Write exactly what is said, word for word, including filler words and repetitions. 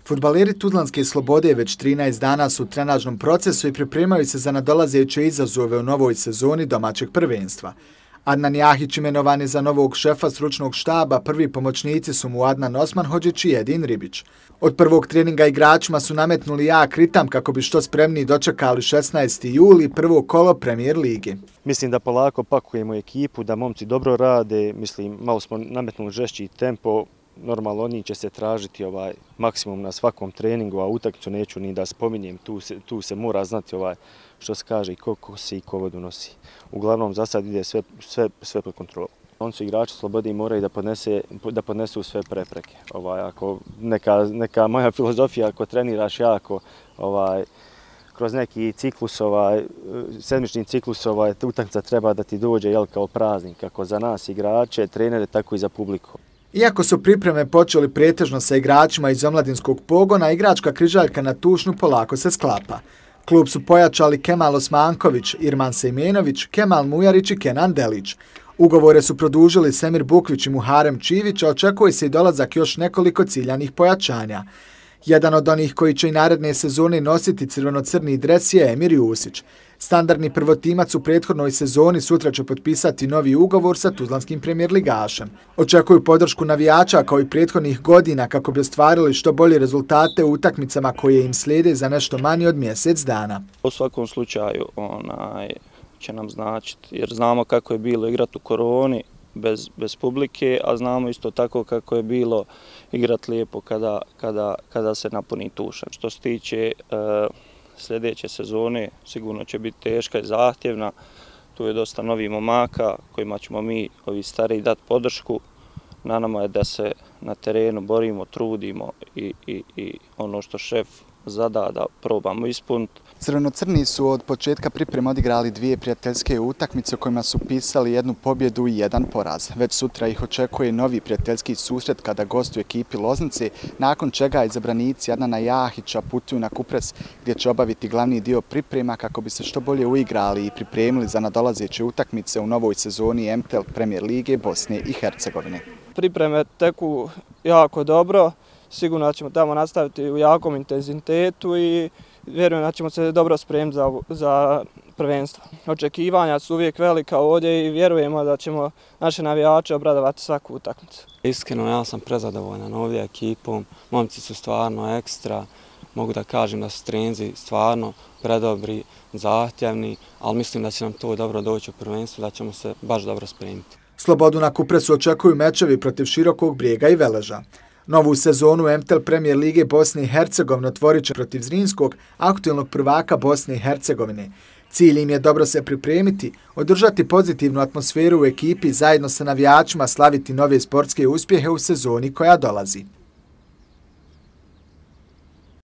Fudbaleri Tuzlanske Slobode već trinaest dana su u trenažnom procesu i pripremaju se za nadolazeće izazove u novoj sezoni domaćeg prvenstva. Adnan Jahić imenovan je za novog šefa stručnog štaba, prvi pomoćnici su mu Adnan Osmanhodžić i Edin Ribić. Od prvog treninga igračima su nametnuli jak ritam kako bi što spremniji dočekali šesnaesti juli, prvo kolo Premier lige. Mislim da polako pakujemo ekipu, da momci dobro rade, mislim malo smo nametnuli žešći tempo. Normalno oni će se tražiti ovaj maksimum na svakom treningu, a utakmicu neću ni da spominjem, tu se, tu se mora znati ovaj što se kaže i ko kosi i ko vodu nosi. Uglavnom za sad ide sve, sve, sve pod kontrolom. On su igrači Slobode i moraju da, podnese, da podnesu sve prepreke. Ovaj, ako neka, neka moja filozofija, ako treniraš jako, ovaj, kroz neki ciklus, ovaj, sedmični ciklus, ovaj, utakmica treba da ti dođe jel, kao praznik, kako za nas igrače, trenere, tako i za publiku. Iako su pripreme počeli pretežno sa igračima iz omladinskog pogona, igračka križaljka na Tušnju polako se sklapa. Klub su pojačali Kemal Osmanković, Irman Sejmenović, Kemal Mujarić i Kenan Delić. Ugovore su produžili Semir Bukvić i Muharem Čivić, a očekuje se i dolazak još nekoliko ciljanih pojačanja. Jedan od onih koji će i naredne sezone nositi crveno-crni dres je Emir Jusić. Standardni prvotimac u prethodnoj sezoni sutra će potpisati novi ugovor sa tuzlanskim premijer ligašem. Očekuju podršku navijača kao i prethodnih godina kako bi ostvarili što bolje rezultate u utakmicama koje im slijede za nešto manje od mjesec dana. U svakom slučaju onaj, će nam značiti, jer znamo kako je bilo igrati u koroni bez, bez publike, a znamo isto tako kako je bilo igrati lijepo kada, kada, kada se napuni Tuša. Što se tiče uh, sljedeće sezone, sigurno će biti teška i zahtjevna. Tu je dosta novih momaka kojima ćemo mi, ovi stariji, dati podršku. Na nama je da se na terenu borimo, trudimo i, i, i ono što šef zada da probamo ispuniti. Crveno-crni su od početka priprema odigrali dvije prijateljske utakmice u kojima su pisali jednu pobjedu i jedan poraz. Već sutra ih očekuje novi prijateljski susret kada gostuju ekipi Loznice, nakon čega izabranici Adnana Jahića putuju na Kupres gdje će obaviti glavni dio priprema kako bi se što bolje uigrali i pripremili za nadolazeće utakmice u novoj sezoni M T L Premier lige Bosne i Hercegovine. Pripreme teku jako dobro, sigurno ćemo tamo nastaviti u jakom intenzitetu i vjerujem da ćemo se dobro spremiti za, za prvenstvo. Očekivanja su uvijek velika ovdje i vjerujemo da ćemo naše navijače obradovati svaku utakmicu. Iskreno, ja sam prezadovoljan ovdje ekipom, momci su stvarno ekstra, mogu da kažem da su treninzi stvarno predobri, zahtjevni, ali mislim da će nam to dobro doći u prvenstvu, da ćemo se baš dobro spremiti. Slobodu na Kupresu očekuju mečevi protiv Širokog Brijega i Veleža. Novu sezonu M T L Premier lige Bosne i Hercegovine otvorit će protiv Zrinskog, aktualnog prvaka Bosne i Hercegovine. Cilj im je dobro se pripremiti, održati pozitivnu atmosferu u ekipi, zajedno sa navijačima slaviti nove sportske uspjehe u sezoni koja dolazi.